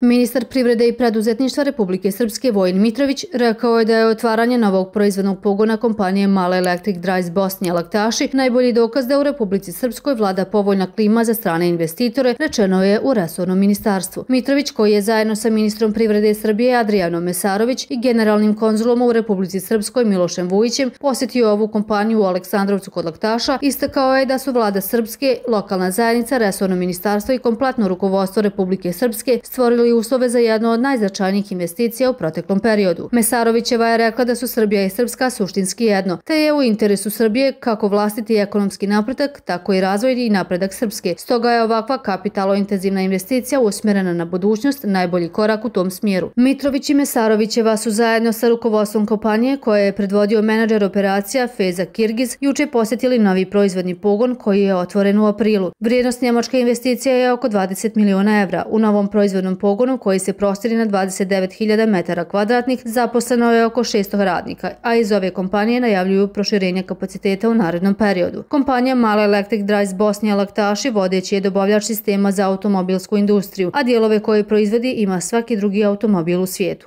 Ministar privrede i preduzetništva Republike Srpske Vojin Mitrović rekao je da je otvaranje novog proizvodnog pogona kompanije Male Electric Drives Bosnija Laktaši najbolji dokaz da u Republici Srpskoj vlada povoljna klima za strane investitore, rečeno je u resornom ministarstvu. Mitrović, koji je zajedno sa ministrom privrede Srbije Adrijanom Mesarović i generalnim konzulom u Republici Srpskoj Milošem Vujićem posjetio ovu kompaniju u Aleksandrovcu kod Laktaša, istakao je da su vlada Srpske, lokalna zajednica, resorno ministarstvo i kompletno rukovodstvo Republike Srpske stvorili uslove za jednu od najznačajnijih investicija u proteklom periodu. Mesarovićeva je rekla da su Srbija i Srpska suštinski jedno, te je u interesu Srbije kako vlastiti ekonomski napredak, tako i razvojni i napredak Srpske. Stoga je ovakva kapitalo-intenzivna investicija usmjerena na budućnost najbolji korak u tom smjeru. Mitrović i Mesarovićeva su zajedno sa rukovodstvom kompanije koje je predvodio menadžer operacija Feza Kirgiz juče posjetili novi proizvodni pogon koji je otvoren u aprilu. Vrijednost njemačke investicije je oko 20 miliona evra. U novom proizvodnom pogonu koji se prostire na 29.000 metara kvadratnih, zaposleno je oko 600 radnika, a iz ove kompanije najavljuju proširenje kapaciteta u narednom periodu. Kompanija Male Electric Drives Bosnija Laktaši vodeći je dobavljač sistema za automobilsku industriju, a dijelove koje proizvodi ima svaki drugi automobil u svijetu.